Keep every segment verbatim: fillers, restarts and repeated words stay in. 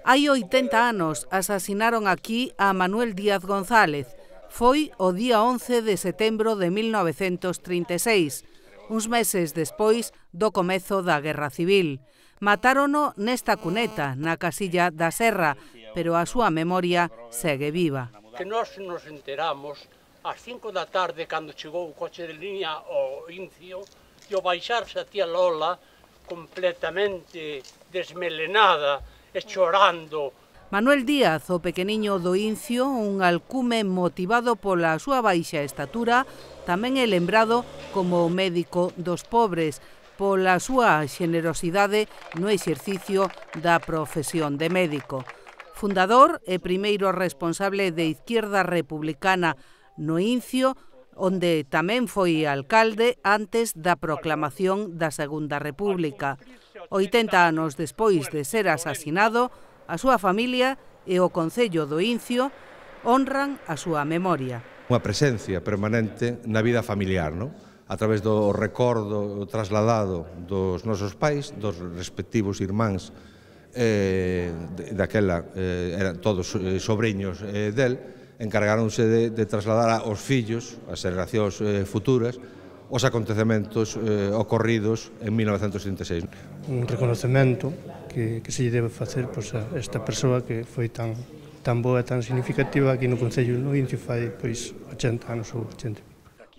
Hai oitenta anos asasinaron aquí a Manuel Díaz González. Foi o día once de setembro de mil novecentos trinta e seis, uns meses despois do comezo da Guerra Civil. Matárono nesta cuneta, na Casilla da Serra, pero a súa memoria segue viva. Que nós nos enteramos ás cinco da tarde, cando chegou o coche de línea ao Incio, e ao baixarse a tía Lola, completamente desmelenada e chorando. Manuel Díaz, o pequeniño do Incio, un alcume motivado pola súa baixa estatura, tamén é lembrado como o médico dos pobres, pola súa xenerosidade no exercicio da profesión de médico. Fundador e primeiro responsable de Izquierda Republicana no Incio, onde tamén foi alcalde antes da proclamación da Segunda República. oitenta anos despois de ser asasinado, a súa familia e o Concello do Incio honran a súa memoria. Unha presencia permanente na vida familiar, non? A través do recordo trasladado dos nosos pais, dos respectivos irmáns, eh, daquela eh, eran todos sobrinhos eh, del, encargaronse de, de trasladar aos fillos, as xeracións eh, futuras, os acontecementos eh, ocorridos en mil novecentos trinta e seis. Un reconocemento que, que se lle debe facer pois, a esta persoa que foi tan, tan boa e tan significativa aquí no Concello do Incio fai pois, oitenta anos ou oitenta.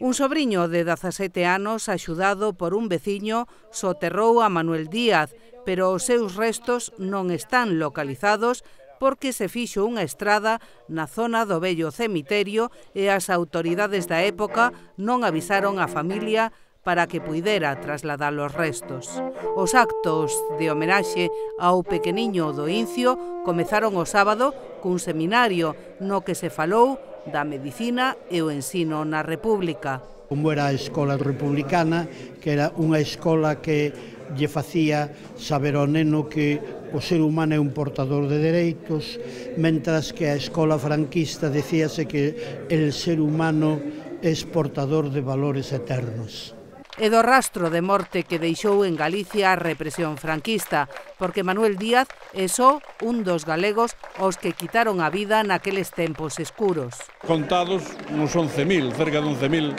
Un sobriño de dezasete anos, axudado por un veciño, soterrou a Manuel Díaz, pero os seus restos non están localizados porque se fixo unha estrada na zona do vello cemiterio e as autoridades da época non avisaron a familia para que puidera trasladar os restos. Os actos de homenaxe ao pequeniño do Incio comezaron o sábado cun seminario no que se falou da medicina e o ensino na República. Como era a escola republicana, que era unha escola que lle facía saber ao neno que o ser humano é un portador de dereitos, mentras que a escola franquista decíase que el ser humano é portador de valores eternos. E do rastro de morte que deixou en Galicia a represión franquista, porque Manuel Díaz é só un dos galegos aos que quitaron a vida naqueles tempos escuros. Contados uns once mil, cerca de once mil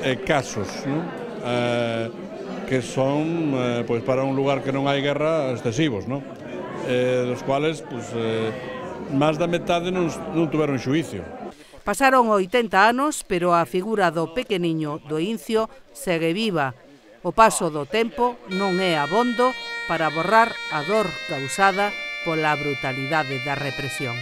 eh, casos, non? Eh, que son, eh, pois, para un lugar que non hai guerra, excesivos, non? Eh, dos cuales, pois, eh, máis da metade non, non tuveron xuicio. Pasaron oitenta anos, pero a figura do pequeniño do Incio segue viva. O paso do tempo non é abondo para borrar a dor causada pola brutalidade da represión.